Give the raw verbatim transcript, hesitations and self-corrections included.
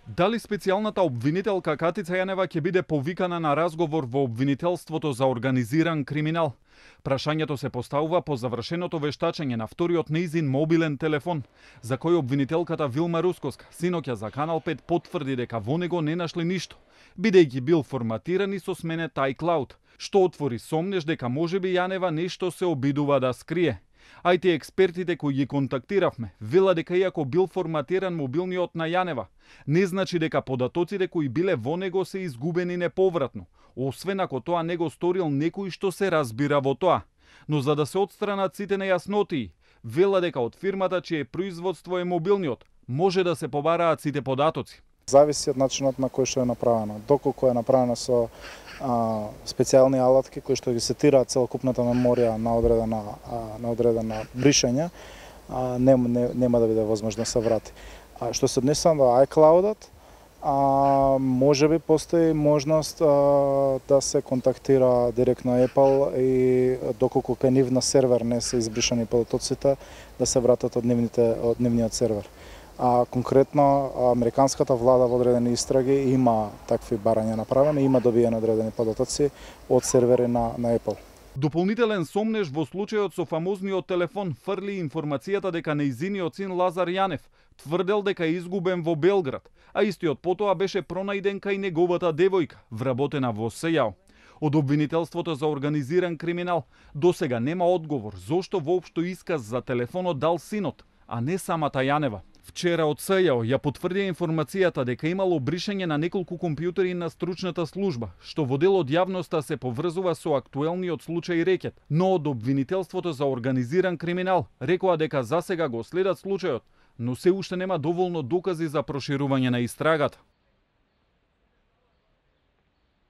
Дали специјалната обвинителка Катица Јанева ќе биде повикана на разговор во обвинителството за организиран криминал? Прашањето се поставува по завршеното вештачење на вториот нејзин мобилен телефон, за кој обвинителката Вилма Рускоска синоќа за Канал пет потврди дека во него не нашли ништо, бидејќи бил форматиран и со сменет iCloud, што отвори сомнеш дека можеби Јанева нешто се обидува да скрие. А и експертите кои ги контактиравме вела дека иако бил форматиран мобилниот на Јанева, не значи дека податоците кои биле во него се изгубени неповратно, освен ако тоа не го сторил некој што се разбира во тоа. Но за да се отстранат сите нејаснотии, вела дека од фирмата чие производство е мобилниот, може да се побараат сите податоци. Зависи од начинот на кој што е направено. Доколку е направено со а, специјални алатки кои што ги сетираат целокупната меморија на одредена а, на одредена бришање, а, нема, не, нема да биде возможно да се врати. А што се однесува до iCloud-от, а можеби постои можност а, да се контактира директно Apple и доколку кај нив на сервер не се избришани податоците, да се вратат од нивните од нивниот сервер. А конкретно американската влада во одредени истраги има такви барања направени, има добиени одредени податоци од сервери на, на Apple. Дополнителен сомнеш во случајот со фамозниот телефон фрли информацијата дека нејзиниот син Лазар Јанев тврдел дека е изгубен во Белград, а истиот потоа беше пронајден кај неговата девојка, вработена во СЈАО. Од обвинителството за организиран криминал досега нема одговор зошто воопшто исказ за телефонот дал синот, а не самата Јанева. Вчера од СЈАО ја потврдија информацијата дека имало бришање на неколку компјутери на стручната служба, што во дел од јавноста се поврзува со актуелниот случај рекет, но од обвинителството за организиран криминал рекоа дека засега го следат случајот, но се уште нема доволно докази за проширување на истрагата.